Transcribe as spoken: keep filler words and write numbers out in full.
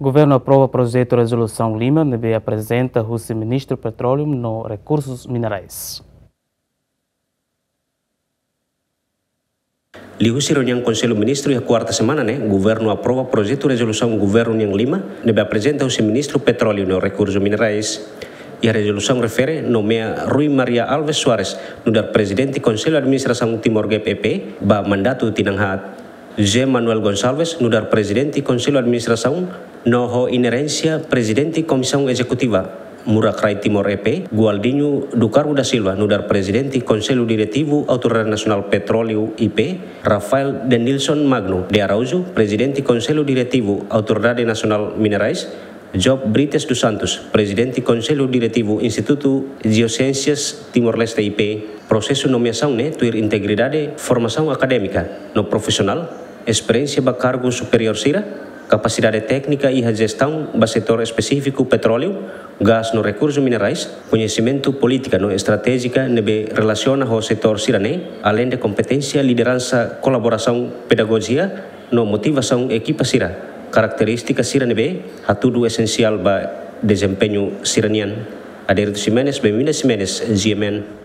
Governu aprova projetu rezolusaun lima ne'ebé aprezenta husi Ministru Petróleu no Rekursus Minerais. Liuhusi reuniaun Konsellu Ministru iha kuarta semana ne'e, Governu aprova projetu rezolusaun Governu nian lima ne'ebé aprezenta husi Ministru Petróleu no Rekursus Minerais. Iha rezolusaun refere nomeia Rui Maria Alves Soares nu'udar Prezidente Konsellu Administrasaun Timor Gap E P ba mandatu tinan haat. José Manuel Gonçalves nu'udar Prezidente Konsellu Administrasaun no ho inerénsia Prezidente Komisaun Ezekutiva Murak Rai Timor E P, Gualdinho do Carmo da Silva nu'udar Prezidente Konsellu Diretivu Autoridade Nasionál Petróleu I P, Rafael Denilson Magno de Araújo, Prezidente Konsellu Diretivu Autoridade Nasionál Minerais, Job Brites dos Santos, Prezidente Konsellu Diretivu Institutu Jeosiénsias Timor-Leste I P. Prosesu nomeasaun ne'e tuir integridade, formasaun akadémika no profisionál, esperiénsia ba kargu superiór sira, kapasidade téknika iha jestaun ba setór espesífiku petróleu, gás no rekursu minerais, koñesimentu polítika no estratéjika ne'ebé relasiona ho setór sira-ne'e, aleinde kompeténsia, lideransa, kolaborasaun, pedagojia no motivasaun ekipa sira, karakterístika sira ne'ebé hatudu esensiál ba dezempeñu sira-nian. Adérito Ximenes, Benvinda Ximenes, G M N.